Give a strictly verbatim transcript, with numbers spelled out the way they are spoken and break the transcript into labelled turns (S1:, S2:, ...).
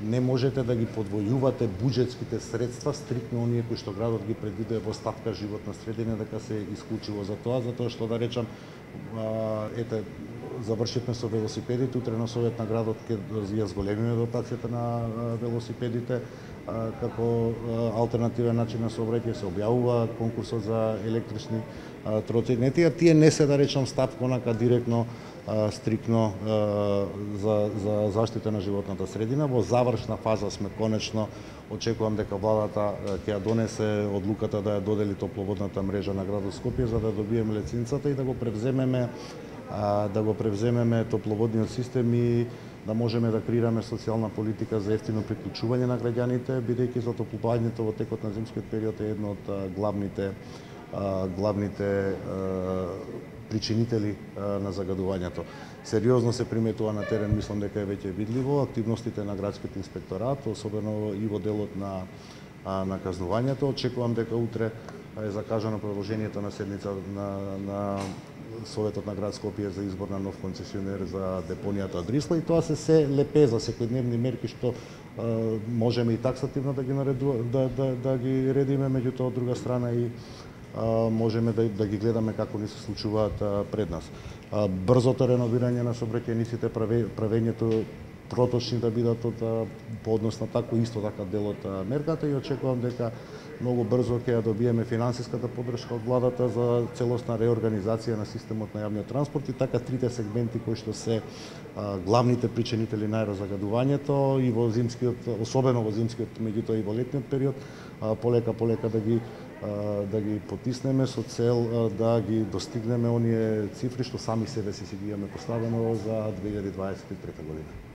S1: не можете да ги подвојувате буџетските средства стрикно оние кои што градот ги предвидува во ставка животна средина дека се исклучиво за тоа, затоа што да речам ете завршивме со велосипедите, утре на совет на градот ќе ја зголемиме дотацијата на велосипедите како алтернативен начин на сообраќај, се објавува конкурсот за електрични троцикли. Тие не се да речам ставка онака директно стрикно за за заштита на животната средина. Во завршна фаза сме конечно, очекувам дека владата ќе ја донесе одлуката да ја додели топловодната мрежа на градот Скопје за да добиеме лиценцата и да го превземеме да го превземеме топловодниот систем и да можеме да креираме социјална политика за ефтино приклучување на граѓаните, бидејќи затоплувањето во текот на зимскиот период е едно од главните главните причинители на загадувањето. Сериозно се приметува на терен, мислам дека е веќе видливо, активностите на градскиот инспекторат, особено и во делот на на казнувањето. Очекувам дека утре е закажано продолжението на седница на на Советот на град Скопје за избор на нов концесионер за депонијата Дрисла и тоа се се лепеза, секојдневни мерки што е, можеме и таксативно да ги наредуваме, да, да, да ги редиме, меѓутоа од друга страна и можеме да, да ги гледаме како ни се случуваат пред нас. Брзото реновирање на сообраќајниците, правењето проточни да бидат од по однос на тако исто така дел од мерката и очекувам дека многу брзо ќе ја добиеме финансиската поддршка од владата за целосна реорганизација на системот на јавниот транспорт и така трите сегменти кои што се а, главните причинители на аерозагадувањето и во зимскиот, особено во зимскиот, меѓутоа и во летниот период, а, полека полека да ги да ги потиснеме со цел да ги достигнеме оние цифри што сами себе си си ги имаме поставено за две илјади дваесет и трета година.